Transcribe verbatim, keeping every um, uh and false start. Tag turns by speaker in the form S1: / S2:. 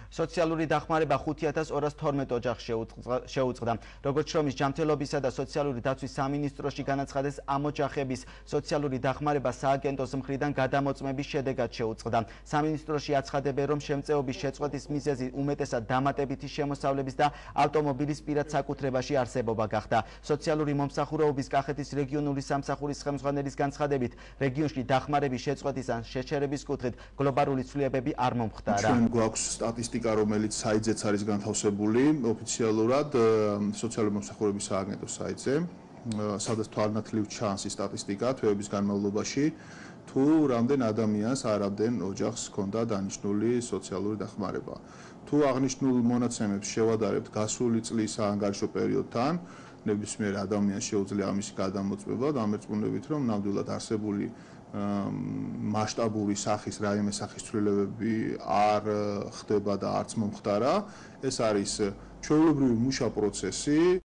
S1: სოციალური დახმარება ხუთი ათას ორას თორმეტ ოჯახს შეუწყდა. როგორც შრომის ჯანმრთელობისა და სოციალური დაცვის სამინისტროში განაცხადეს, ამ ოჯახების სოციალური დახმარება სააგენტოს მხრიდან გადამოწმების შედეგად შეუწყდა. სამინისტროში აცხადებენ, რომ შემწეობის შეწყვეტის მიზეზი უმეტესად დამატებითი შემოსავლების და ავტომობილის პირად საკუთრებაში არსებობა გახდა. სოციალური მომსახურეობის კახეთის რეგიონული სამსახურის ხელმძღვანელის განცხადებით, რეგიონში დახმარების შეწყვეტის ან შეჩერების კუთხით გლობალური ცვლილებები არ მომხდარა.
S2: ჩვენ გვაქვს სტატისტიკა, რომელიც საიტზეც არის განთავსებული ოფიციალურად სოციალური მომსახურების სააგენტოს საიტზე, სადაც თვალნათლივ ჩანს ის სტატისტიკა თვეების განმავლობაში, თუ რამდენ ადამიანს არავდნენ ოჯახს ჰქონდა დანიშნული სოციალური დახმარება. თუ აღნიშნულ მონაცემებს შევადარებთ გასული წლის საანგარიშო პერიოდთან, ნებისმიერ ადამიანს შეუძლია ამის გადამოწმება, დამერწმუნებით, რომ ნამდვილად არსებული მასშტაბური სახის რაიმე სახის ცვლილებები არ ხდება და არც მომხდარა. ეს არის ჩვეულებრივი მუშა პროცესი.